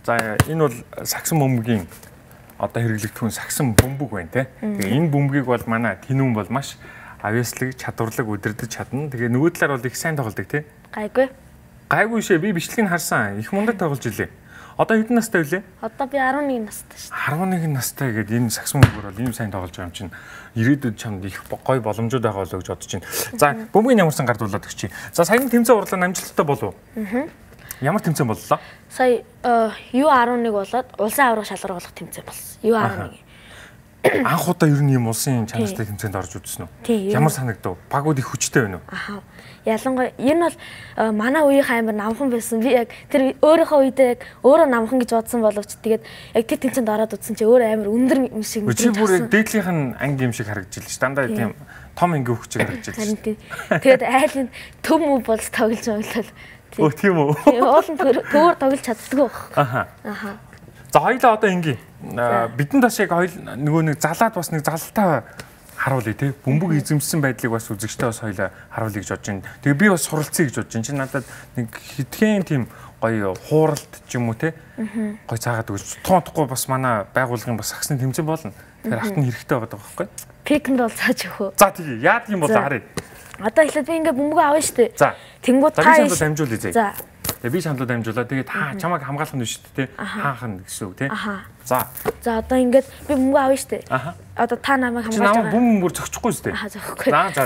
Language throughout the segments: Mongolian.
За энэ бол сагсан бөмбөгийн одоо хэрэглэгдэх сагсан бөмбөг байна те. Тэгээ энэ бөмбөгийг бол манай Тэнүүн бол маш авьяаслаг, чадварлаг удирдах чадна. Тэгээ нөгөө талаар бол их сайн тоглодог те. Гайгүй. Гайгүй шээ. Би бичлэгийг харсан. Их мундаг тоглож илээ. Одоо хэдэн настай вэ? Одоо би 11 настай шүү11 дээ. настай гэдэг энэ сагсан бөмбөөр бол ийм сайн тоглож байгаа юм чинь ирээдүйд чамд их гоё боломжууд байгаа болоо гэж бодож байна. За бөмбөгийн ямарсан гардуулаад өгчий. За саяны тэмцээн урлаа амжилттай болов уу? Ямар тэмцээн боллоо? Сая U11 болоод улсын аврах шалгаруулах тэмцээн болсон. U11. Анх удаа ер нь ийм улсын чанартай тэмцээнд орж үзсэн үү? Ямар санагдав? Багууд их хүчтэй байна уу? Аха. Ялангуяа энэ бол манай үеийн амар намхан байсан. Би яг тэр өөрийнхөө үедээ яг өөрөө намхан гэж бодсон боловч тэгээд яг тэр тэмцээнд ороод үзсэн чи өөрөө амар өндөр юм шиг мэдэрч байна. Дээдлийнх нь анги юм шиг харагдаж илж. Дандаа тийм том анги өгч харагдаж илж. Тэгээд айлын төв мөв болж тоглож байгаа. Өө тийм үү? Уулын төвөр тоглож чаддгүй байх. Аха. За хоёлаа одоо ингийн бидэнд бас яг нөгөө нэг залаад бас нэг залтай харуулъя тий. Бөмбөг эзэмсэн байдлыг бас үзэгчтэй бас хоёлаа харуулъя гэж бодож байна. Тэгээ би бас суралцъя гэж бодож байна. Чи надад нэг хитгэн тийм гоё хууралт ч юм уу тий. Гоё цаагаад өгч тоонтохгүй бас манай байгууллагын бас сагсны тэмцээн болно. Тэгэхээр хат нь хэрэгтэй байгаа байхгүй. Пикэнд бол цааж өгөө. За тий. Яад юм бол харъя. Одоо эхлээд би ингээ бөмбөг авна шүү дээ. За. Тэнгууд та шаналд дамжуулъя зэ. За. Тэгээ би шаналд дамжуулаа. Тэгээд чамайг хамгаалах нь шүү дээ. Хаанхан гэсэн үг тий. За. За одоо ингээд би бөмбөг авна шүү дээ. Одоо та намайг хамгаалж байгаа. Бөмбөр зөгчихгүй шүү дээ. Зөгөхгүй. За.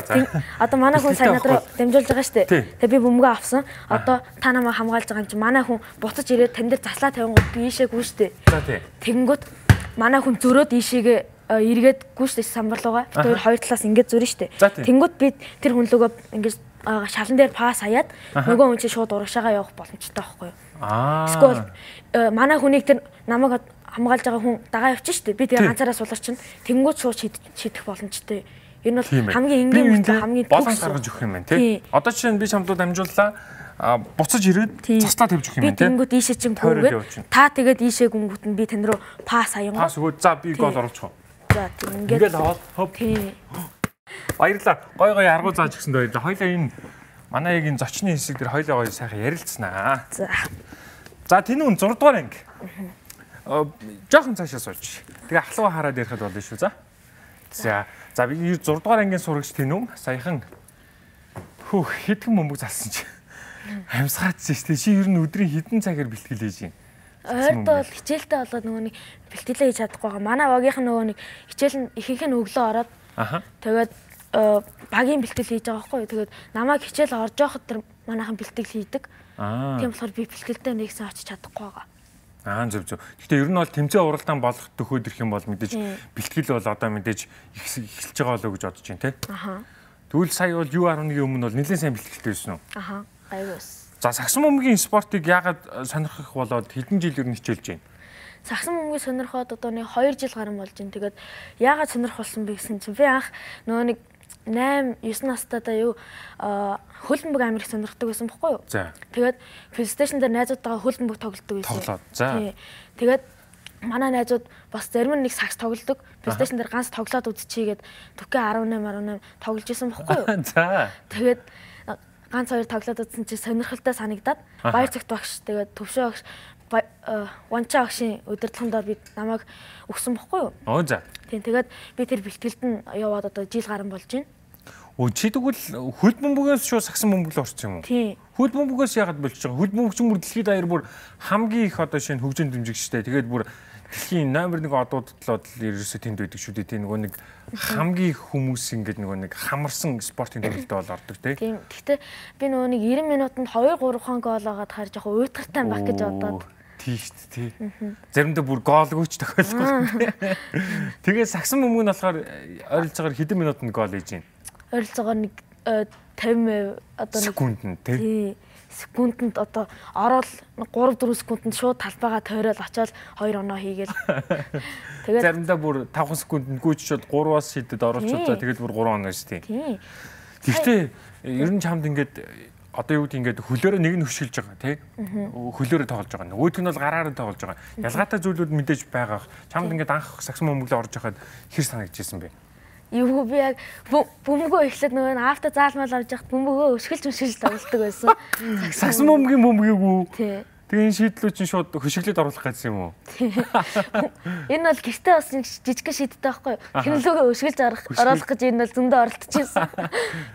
Одоо манай хүн сайн надруу дамжуулж байгаа шүү дээ. Тэгээ би бөмбөг авсан. Одоо та намайг хамгаалж байгаа юм чи манай хүн буцаж ирээд тань дээр заслаа тавингууд би ийшээ гүйж шүү дээ. За тий. Тэнгууд манай хүн зөрөөд ийшээгээ эргээд гүйж шүү дээ самбарлуугаа. Тэр хоёр талаас ингээд зөрнө шүү дээ. Тэнгууд би тэр хүнлөөгөө ингээд шалан дээр пас хаяад нөгөө хүн чинь шууд урагшаага явах боломжтой байхгүй юу? Эсвэл манай хүнийг тэр намайг хамгаалж байгаа хүн дагаа явчих шүү дээ. Би тэгээ ганцаараа сулар чинь тэнгууд шууд шийдэх боломжтой. Энэ бол хамгийн энгийн мөртөө хамгийн боломж гаргаж өгөх юм байна тий. Одоо жишээ нь би чамд дамжууллаа. Буцаж ирээд заслаа тавьж өгөх юм байна тий. Тэнгууд ийшээ чинь гүнгээд та тэгээд ийшээ гүнгүүт нь би тань руу пас хаянгуу. Пас өгөө за би гол оруулчих. За ингээд аваад хоп. Баярлалаа. Гой аргуу зааж өгсөнд баярлалаа. Хоёлаа энэ манай яг энэ зочны хэсэг дээр хоёлаа гоё сайхан ярилцсанаа. За Тэнүүн 6 дугаар анги. Жохон цаашаа сууж. Тэгээ ахлуу хараад ярихад болно шүү. За би 6 дугаар ангийн сурагч Тэнүүн саяхан хэдхэн бөмбөг залсан чи. Амьсгаачихсан шүү дээ. Чи ер нь өдрийн хэдэн цагаар бэлтгэл хийж юм? Ойрд бол хичээлтэй болоод нөгөө нэг бэлтгэлээ хийж чадахгүй байгаа. Манай багийнх нөгөө нэг хичээл нь ихэнх нь өглөө ороод тэгээд багийн бэлтгэл хийж байгаа байхгүй юу. Тэгээд намайг хичээл орж явахад тэр манайхан бэлтгэл хийдэг. Тийм болохоор би бэлтгэлдээ нэгсэн очиж чадахгүй байгаа. Зөв. Гэхдээ ер нь бол тэмцээн уралдаан болох төхөөд ирэх юм бол мэдээж бэлтгэл бол одоо мэдээж эхэлж байгаа болоо гэж бодож байна те. Тэгвэл сая бол U11-ийн өмнө бол нэлээд сайн бэлтгэлтэй байсан уу? Гайгүй. За сагсан бөмбөгийн спортыг яагаад сонирхох болоод хэдэн жил ер нь хичээлж байна? Сагсан бөмбөгийг сонирхоод одоо нэг 2 жил гарсан болж байна. Тэгээд яагаад сонирх болсон бэ гэсэн чинь би анх нөгөө нэг 8 9 настайдаа юу хөл бөмбөг амар их сонирхдаг байсан байхгүй юу? Тэгээд PlayStation дээр найзуудтайгаа хөл бөмбөг тоглодог байсан. Тэгээд манай найзууд бас зарим нэг сагс тоглодог. PlayStation дээр ганц тоглоод үзчихийгээд Түкэ 18 тоглож исэн байхгүй юу? Тэгээд ганц хоёр тоглоод үзсэн чи сонирхолтой санагдаад баяр цагт багш тэгээд төвшөө багш Ванча багшийн удирдлаганд би намайг өгсөн бохгүй юу? Тийм тэгээд би тэр бэлтгэлд нь яваад одоо жил гарсан болж байна. Чи тэгвэл хөл бөмбөгөөс шууд сагсан бөмбөг л орсон юм уу? Тийм. Хөл бөмбөгөөс яагаад болчих байгаа? Хөл бөмбөг чинь бүр дэлхийд даяар бүр хамгийн их одоо шинэ хөгжин дэмжигчтэй. Тэгээд бүр дэлхийн номер 1 одуудлууд л ерөөсөө тэнд байдаг шүү дээ. Тийм нөгөө нэг хамгийн их хүмүүс ингээд нөгөө нэг хамарсан спортын төвлөлтөд бол ордог тийм. Гэхдээ би нөгөө нэг 90 минутанд 2 3 хон гол агаад харж яг уйтгартай баг гэж бодоод тий. Заримдаа бүр гоолгүйч тохиолддог. Тэгээ сагсан бөмбөг нь болохоор ойролцоогоор хэдэн минутанд гол хийж байна? Ойролцоогоор нэг 50 одоо секундэд тий. Секундэд одоо ороод 3-4 секундэд шууд талбайгаа тойрол очоод 2 оноо хийгээл. Тэгээд заримдаа бүр 5 секундэд гүйчшээд 3-аас шидэд оруулчихвал за тэгээд бүр 3 оноо шүү дээ. Гэхдээ ер нь чамд ингээд одоо юу гэдэг ингээд хөлөөрөө нэг нь хөшгөлж байгаа тий. Хөлөөрөө тоглож байгаа. Нөгөөдг нь бол гараараа тоглож байгаа. Ялгаатай зүйлүүд мэдээж байгаа. Чамд ингээд анх сагсан бөмбөглөө орж байхад хэр санагдчихсэн бэ? Юу би яг бөмбөгөө эхлээд нөгөө авто заалмал авч яхад бөмбөгөө өшгөлж тоглолдог байсан. Сагсан бөмбөгийн бөмбөгийг үү? Тий. Тэгээ энэ шийдлүүд чинь шууд хөшөглөд оруулах гэсэн юм уу? Энэ бол гэртээ бас жижигхэн шийдтэй байхгүй юу? Хэмнэлүүгээ хөшгөлж оруулах гэж энэ бол зөндөө оролдчихсон.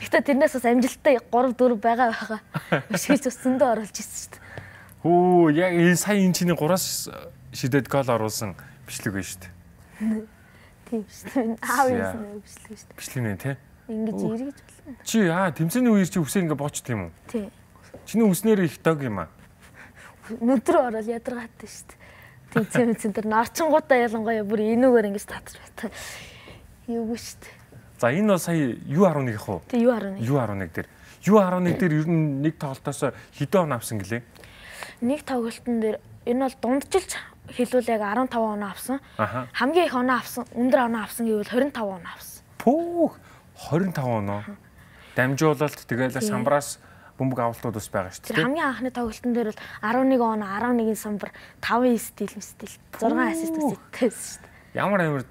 Гэхдээ тэрнээс бас амжилттай 3 4 байгаа. Хөшгөлж бас зөндөө оруулж ирсэн шүү дээ. Хөө яг энэ сая энэ чиний 3-аас шидэд гол оруулсан бичлэг байна шүү дээ. Тийм шүү. Аав юм бичлэг шүү дээ. Бичлэг нэ тий. Ингэж эргэж болно. Чи тэмцээний үеэр чи үсээ ингээ боочт юм уу? Тий. Чиний үснээр их дог юм аа. Нүдрөө орол ядаргаатай шүү дээ. Тэмцээн тэр нарчингуудаа ялангуяа бүр энүүгээр ингэж татж байтаа. Юугүй шүү дээ. За энэ бол сая U11 ах уу? Тий U11. U11 дээр. U11 дээр ер нь нэг тоглолтоос хэдэн он авсан гэлээ? Нэг тоглолтын дээр энэ бол дундчилж хэлвэл яг 15 оноо авсан. Хамгийн их оноо авсан, өндөр оноо авсан гэвэл 25 оноо авсан. Пүүх 25 оноо. Дамжуулалт тэгээл самбраас бөмбөг авалтууд бас байгаа шүү дээ. Хамгийн анхны тоглолтын дээр бол 11 оноо, 11 самбар, 5 стил, 6 ассист үсэттэй шүү дээ. Ямар амар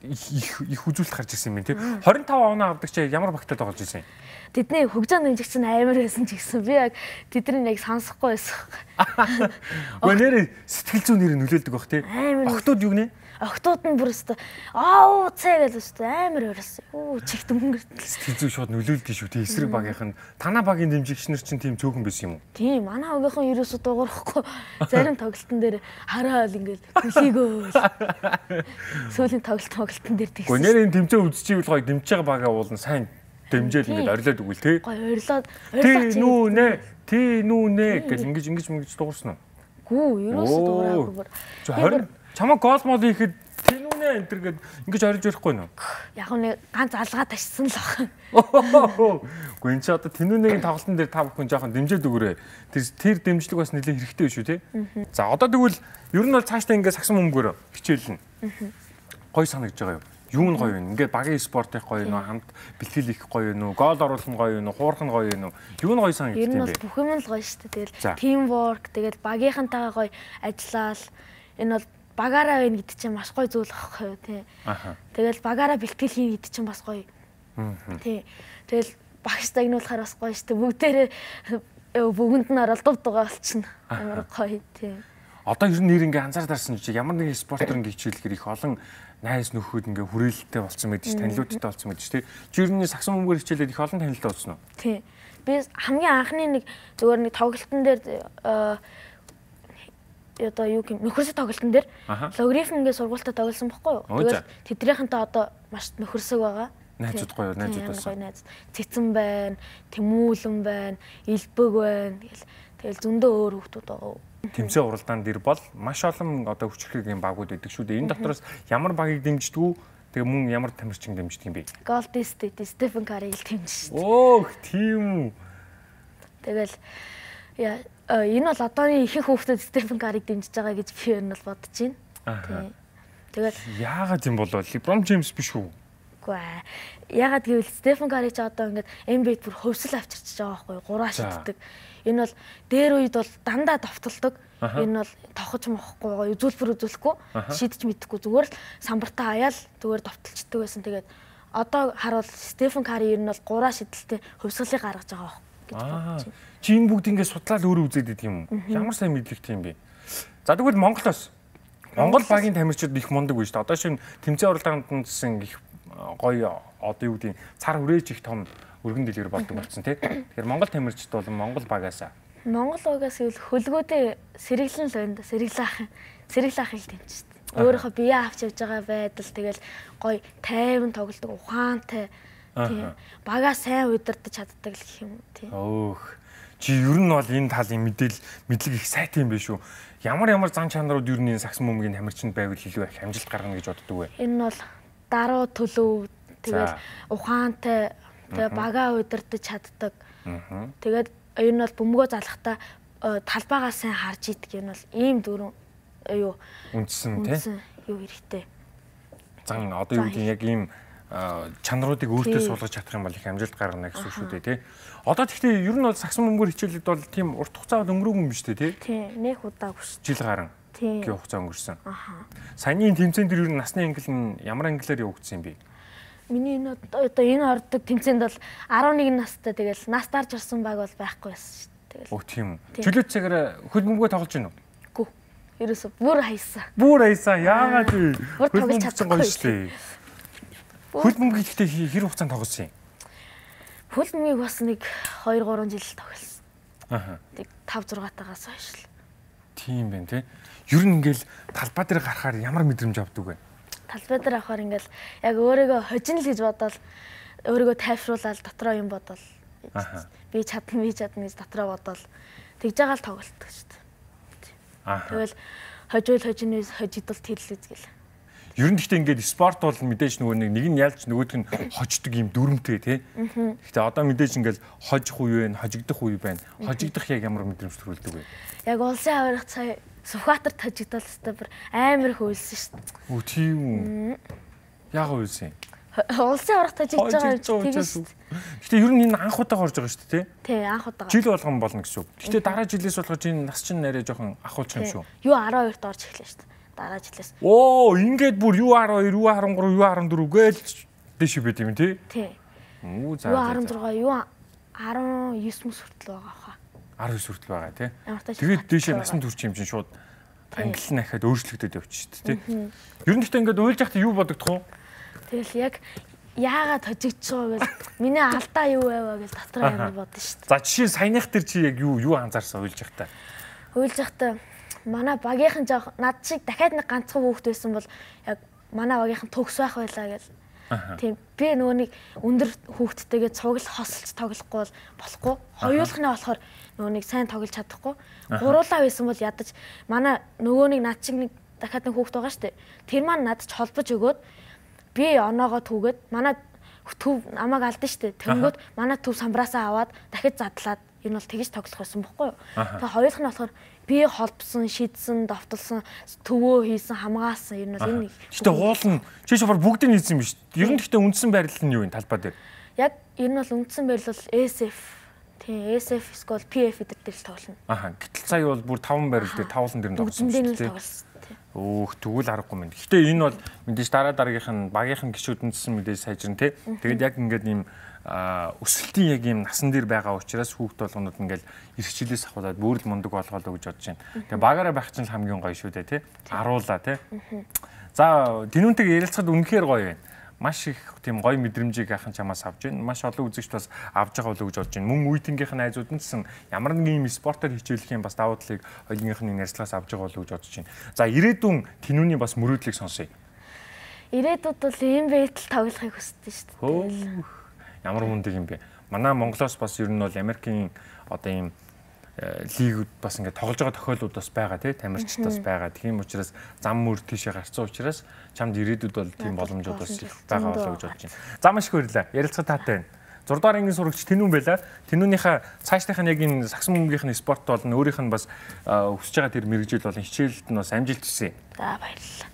их үзүүлэлт гарч ирсэн юм бэ тий. 25 оноо авдаг чи ямар багтаад тоглож ирсэн юм? Тэдний хөгжөөнд дэмжигч нь амар байсан ч гэсэн би яг тэдний яг сонсохгүй байсан. Гүнээр сэтгэл зүйн нэр нөлөөлдөг бах тий. Охтууд юу гинэ? Охтууд нь бүр өстө цаа гэж өстө амар өрөөсөн. Чигт өнгөрт. Сэтгэл зүй шууд нөлөөлдөг шүү тий. Эсрэг багийнх нь танаа багийн дэмжигч нар чинь тийм цөөхөн байсан юм уу? Тийм, манай багийнхан ерөөсө дуурахгүй. Зарим тоглолтын дээр хараал ингээл төлөөгөө. Сүүлийн тоглолтын дээр тэгсэн. Гүнээр энэ тэмцээн үзчихвэл гоё дэмжиж байгаа багаа уулна сайн дэмжээл ингээд орилоод өгвөл тий. Гоё орилоод тий нүүнэ гэл ингэж дуурсан уу? Гүү, ерөөсө дуураагүй. Чамаа гол мол хийхэд тий нүүнэ энэ төр гээд ингэж орилж байхгүй нөө. Яг нэг ганц алгаа ташсан л баг. Гэхдээ энэ чи одоо тэнүүнэгийн тоглолтын дээр та бүхэн жоохон дэмжээд өгөөрэй. Тэр дэмжлэг бас нэлээд хэрэгтэй шүү тий. За одоо тэгвэл ер нь бол цаашдаа ингээд сагсан бөмбөгөөр хичээлнэ. Гой санагдж байгаа юу? Юу нь гоё вэ? Ингээд багийн спорт их гоё нөө, хамт бэлтгэл их гоё нөө, гол оруулах нь гоё нөө, хуурах нь гоё нөө. Юу нь гоё санагдчих юм бэ? Ер нь бол бүх юм л гоё шүү дээ. Тэгэл teamwork, тэгэл багийнхантайгаа гоё ажиллаал. Энэ бол багаараа байна гэдэг чинь маш гоё зүйл байхгүй юу тий. Тэгэл багаараа бэлтгэл хийн гэдэг чинь бас гоё. Тий. Тэгэл багш загнуулахаар бас гоё шүү дээ. Бүгдэнд нь оролдоод байгаа болчихно. Амар гоё тий. Одоо ер нь нэр ингээ анзаар дарсан чи ямар нэгэн спортоор ингээ хичээлэхээр их олон найз нөхөд ингээ хүрээлэлтэй болсон мэдээж танилуудтай болсон мэдээж тий. Чи ер нь сагсан бөмбөөр хичээлээд их олон танилтай болсон уу? Тий. Би хамгийн анхны нэг зөвөр нэг тоглолтын дээр одоо юу юм нөхөрсөг тоглолтын дээр логарифм ингээ сургуультай тоглосон байхгүй юу? Тэгэл тэднийхэнтэй одоо маш нөхөрсөг байгаа. Найзууд гоё найзууд болсон. Цэцэн байна, Тэмүүлэн байна, Илбэг байна. Тэгэл зөндөө өөр хүмүүс байгаа. Тэмцээн уралдаан дээр бол маш олон одоо хүчирхэг багууд байдаг шүү дээ. Энэ дотроос ямар багийг дэмждэг үү? Тэгээ мөн ямар тамирчин дэмждэг юм бэ? Golden State Stephen Curry-г дэмжиж шүү дээ. Оо, тийм үү. Тэгэл энэ бол одооний ихэнх хүүхдүүд Stephen Curry-г дэмжиж байгаа гэж би ер нь бол бодож байна. Тэгээд яагаад юм бол LeBron James биш үү? Үгүй. Яагаад гэвэл Stephen Curry ч одоо ингээд NBA-д бүр хөвсөл авчирч байгаа байхгүй юу? 3 шиддэг. Энэ бол дээр үед бол дандаа довтолдог. Энэ бол тохож мохгүй, үзүүлбэр үзүүлэхгүй, шидэж мэдэхгүй зүгээр л самбартаа аяал зүгээр довтолчдөг байсан. Тэгээд одоо харуул Stephen Curry ер нь бол 3 шидэлтэй хөвсгөлийг гаргаж байгаа гэж бодож байна. Чи энэ бүгд ингээд судлаад өөрөө үзээд идэв юм уу? Ямар сайн мэдлэгтэй юм бэ? За тэгвэл Монголоос Монгол багийн тамирчид их мундаг биш үү? Одоо шинэ тэмцээн уралдаанд гэсэн их гоё одоо юу гэдэг цар хүрээж их том өргөн дэлгэр болдог болсон тий. Тэгэхээр Монгол тамирчид бол Монгол багаас гэвэл хөлгөөдөө сэргэлэн л байна да. Сэргэлаах хэл тэмчсэн. Өөрөөхөө бие авч явж байгаа байдал тэгэл гоё тайван тоглодог, ухаантай тий. Багаа сайн удирдах чаддаг л гэх юм тий. Өөх. Чи ер нь бол энэ талын мэдлэг их сайтай юм биш үү? Ямар зан чанарууд ер нь сагсан бөмбөгийн тамирчинд байвал илүү их амжилт гаргана гэж боддог вэ? Энэ бол даруу төлөв тэгэл ухаантай тэгээ багаа удирдах чаддаг. Тэгээд энэ бол бөмбөгөө залахтаа талбайгаа сайн харж идэг. Энэ бол ийм дөрөв юу үндсэн тий юу хэрэгтэй. Зан одоо юу гэдэг яг ийм чанаруудыг өөртөө суулгаж чадах юм бол их амжилт гаргана гэсэн үг шүү дээ тий. Одоо тэгтээ ер нь бол сагсан бөмбөөр хичээлээд бол тийм урт хугацаа өнгөрөөгүй юм биш үү тий? Тий, нэг удаагүй шүү. Жил гарan гээ хугацаа өнгөрсөн. Саяны тэмцээн дээр ер нь насны ангил нь ямар ангилаар явагдсан юм бэ? Миний одоо энэ ордог тэмцээнд бол 11 настай тэгэл нас дарж орсон баг бол байхгүй байсан шүү Тэгэл. Оо тийм. Чөлөөт цагаараа хөл бөмбөгөө тоглож байна уу? Гүү. Ерөөсө бүр хаясан. Бүр хаясан. Яагаад вэ? Бүр тоглож чадахгүй шүү дээ. Хөл бөмбөг ихтэй хэр хугацаанд тоглосон юм? Хөл бөмбөгийг бас нэг 2 3 жил тоглосон. Аха. Тэг 5 6 тагаас хойш л. Тийм байна тий. Ер нь ингээл талбай дээр гарахаар ямар мэдрэмж авдаг вэ? Талбай дээр авахаар ингээл яг өөрийгөө хожин л гэж бодоод өөрийгөө тайвшруулаад дотроо юм бодоод би чадна гэж дотроо бодоод тэгж байгаа л тоглолтдог шүү дээ. Тэгэл хожинээс хожидол тэлэл үзгээл. Ер нь гэхдээ ингээд спорт бол мэдээж нөгөө нэг нь ялж нөгөөх нь хождог юм дүрмтэй тий. Гэхдээ одоо мэдээж ингээд хожих үе байна, хожигдох үе байна. Хожигдох яг ямар мэдрэмж төрүүлдэг вэ? Яг улсын авирах цай Сүхбаатарт хожигдол өстой бүр амар хөөсөн шүү дээ. Үу тийм үү. Яг хөөсөн. Улсын авирах хожигдож байгаа юм тийм шүү. Гэхдээ ер нь энэ анх удаа орж байгаа шүү дээ тий. Тий, анх удаа. Жил болгон болно гэсэн үг. Гэхдээ дараа жилээс болгож энэ нас чинь нэрээ жоохон ахуулчих юм шүү. Юу 12-т орж эхлэв шүү дээ. Дараа жилээс. Оо, ингээд бүр U12, U13, U14 гээл дэш байд юм тий? Тий. Үу за. U16, U19 мөс хүртэл байгаа хаа. 19 хүртэл байгаа тий. Тэгээд дэшээ насан турш юм чинь шууд англи нахад өөрчлөгдөд явчих шүү дээ тий. Ер нь гэхдээ ингээд уйлж яхад юу бодогдох вэ? Тэгэл яг яагаад хожигдж байгаа гэж миний алдаа юу байваа гэж дотроо амар бодсон шүү дээ. За жишээ саяных тэр чи яг юу анзаарсан уйлж яхад? Уйлж яхад манай багийнхан жоох над шиг дахиад нэг ганцхан хүүхэд байсан бол яг манай багийнхан төгс байх байлаа гэл. Тийм би нөгөө нэг өндөр хүүхэдтэйгээ цуглал хосолж тоглохгүй бол болохгүй. Хоёулахнаа болохоор нөгөө нэг сайн тоглож чадахгүй. Гуруулаа байсан бол ядаж манай нөгөө нэг над шиг нэг дахиад нэг хүүхэд байгаа штэ. Тэр маань надад ч холбож өгөөд би оноогоо түүгээд манай төв намайг алдсан штэ. Тэнгүүд манай төв самбраасаа аваад дахиад задлаад энэ бол тэгж тоглох байсан бохгүй юу. Тэгээ хоёулах нь болохоор би холбсон, шидсэн, довтолсон, төвөө хийсэн, хамгаалсан ер нь бол энэ. Гэтэ уул нь чиш бар бүгдийг хийсэн юм биш. Ер нь гэхдээ үндсэн байрлал нь юу вэ талбай дээр? Яг ер нь бол үндсэн байрлал SF. Тийм, SF эсвэл PF эдэр дээр л тоглоно. Аха. Гэтэл сая бол бүр 5 байрлал дээр 5 дээр нь тоглосон шүү дээ. Өөх тэгвэл аргагүй юм. Гэтэ энэ бол мэдээж дараагийнх нь багийнхан гişүүд үндсэн мэдээж сайжрын тий. Тэгээд яг ингээд ийм өсөлтийн яг ийм насан дээр байгаа учраас хүүхд болгонууд ингээл эрхчлээс ахуулаад бүрэл мундаг болгоолоо гэж бодож байна. Тэгээ багаараа байх чинь хамгийн гоё шүү дээ тий. Аруулаа тий. За тэнүүнтэйг ярилцахад үнэхээр гоё байна. Маш их тийм гоё мэдрэмжийг ахын чамаас авч байна. Маш олон үзэгч бас авж байгаа болов уу гэж бодож байна. Мөн үеийнхээ найзууд нь гэсэн ямар нэгэн юм спортоор хичээлэх юм бас давуу талыг хоёулынхны ярьцлагаас авж байгаа болов уу гэж бодож байна. За ирээдүйн тэнүүний бас мөрөөдлийг сонсъё. Ирээдүйд бол ийм байтал тоглохыг хүсдэг шүү дээ. Ямар мундаг юм бэ? Манай Монголоос бас ер нь бол Америкийн одоо ийм лигүүд бас ингээд тоглож байгаа тохиолдлууд бас байгаа тий тамирчид бас байгаа. Тийм учраас зам мөр тийшээ гарцсан учраас чамд ирээдүйд бол тийм боломжууд бас их байгаа болоо гэж бодож байна. За маш их баярлалаа. Ярилцлага таатай байна. 6 дугаар ангийн сурагч Тэнүүн байла. Тэнүүнийхээ цаашдынх нь яг энэ сагсан бөмбөгийнхний спорт болон өөрийнх нь бас өсөж байгаа тэр мэрэгжил болон хичээлд нь бас амжилт хүсье. За баярлалаа.